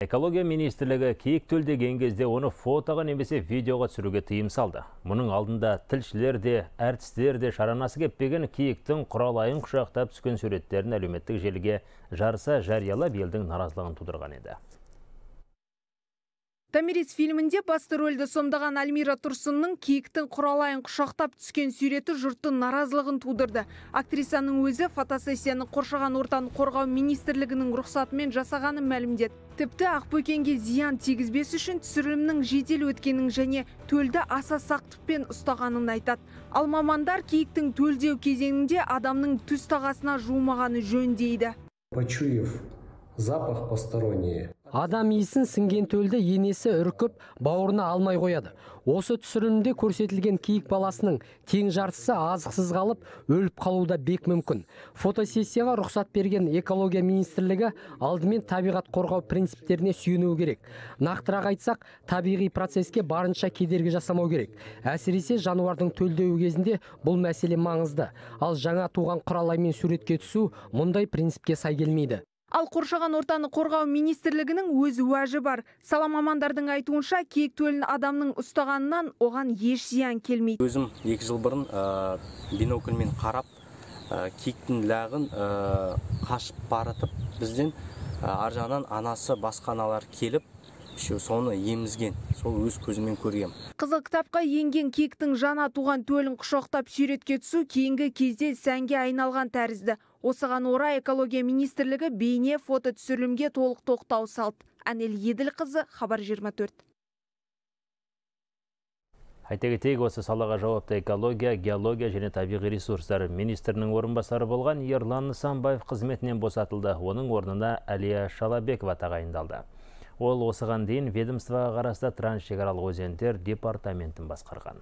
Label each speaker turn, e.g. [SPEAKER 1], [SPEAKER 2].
[SPEAKER 1] Экология министрлігі киік төлдеген кезде оны фотоға немесе видеоға түсіруге тыйым салды. Мұның алдында тілшілер де, әртістер де шаранасы кеппеген киіктің құралайын құшақтап түскен суреттерін әлеуметтік желіге жарыса жариялап елдің наразылығын тудырған еді.
[SPEAKER 2] Томирис фильмінде басты рөлді сомдаған Альмира Тұрсынның киіктің құралайын құшақтап түскен суреті жұрттың наразылығын тудырды. Актрисаның өзі фотосессияны қоршаған ортаны қорғау министрлігінің рұқсатымен жасағанын мәлімдеді. Тіпті ақбөкенге зиян тигізбес үшін түсірілімнің жедел өткенін және төлді аса сақтықпен ұстағанын айтады. Ал мамандар киіктің төлдеу кезеңінде адамның түз тағасына жуымағаны жөн дейді.
[SPEAKER 3] Почуяв запах посторонний.
[SPEAKER 4] Адам иісін сіңген төлді енесі үркіп, бауырына алмай қояды. Осы түсірілімде көрсетілген киік баласының тең жартысы азықсыз қалып, өліп қалуда бек мүмкін. Фотосессияға рұқсат берген экология министрлігі алдымен табиғат қорғау принциптеріне сүйенуі керек. Нақтырақ айтсақ, табиғи процеске барынша кедергі жасамау керек. Әсіресе жануардың төлдеуі кезінде бұл мәселе маңызды. Ал жаңа туған құралаймен суретке түсу мұндай принципке сай келмейді.
[SPEAKER 2] Ал қоршаған ортаны қорғау министрлігінің өз уәжі бар. Сала мамандардың айтуынша киік төлін адамның ұстағанынан оған еш зиян келмейді.
[SPEAKER 5] Өзім 2 жыл бұрын бинокльмен қарап, киіктің лағын қашып баратып, бізден ар жағынан анасы басқа аналар келіп, соны емізген, сол өз көзімен көргем.
[SPEAKER 2] Қызыл кітапқа енген киіктің жаңа туған төлін құшақтап суретке түсу кейінгі кезде сәнге айналған тәрізді. Осыған орай экология министрлігі бейне фото түсірілімге толық тоқтау салды. Әнел Еділқызы, Хабар 24.
[SPEAKER 1] Айта кетейік, осы салаға жауапты экология, геология және табиғи ресурстар министрінің орынбасары болған Ерлан Нысанбаев қызметінен босатылды. Оның орнына Әлия Шалабекова тағайындалды. Ол осыған дейін ведомствоға қарасты трансшекаралық өзендер департаментін басқарған.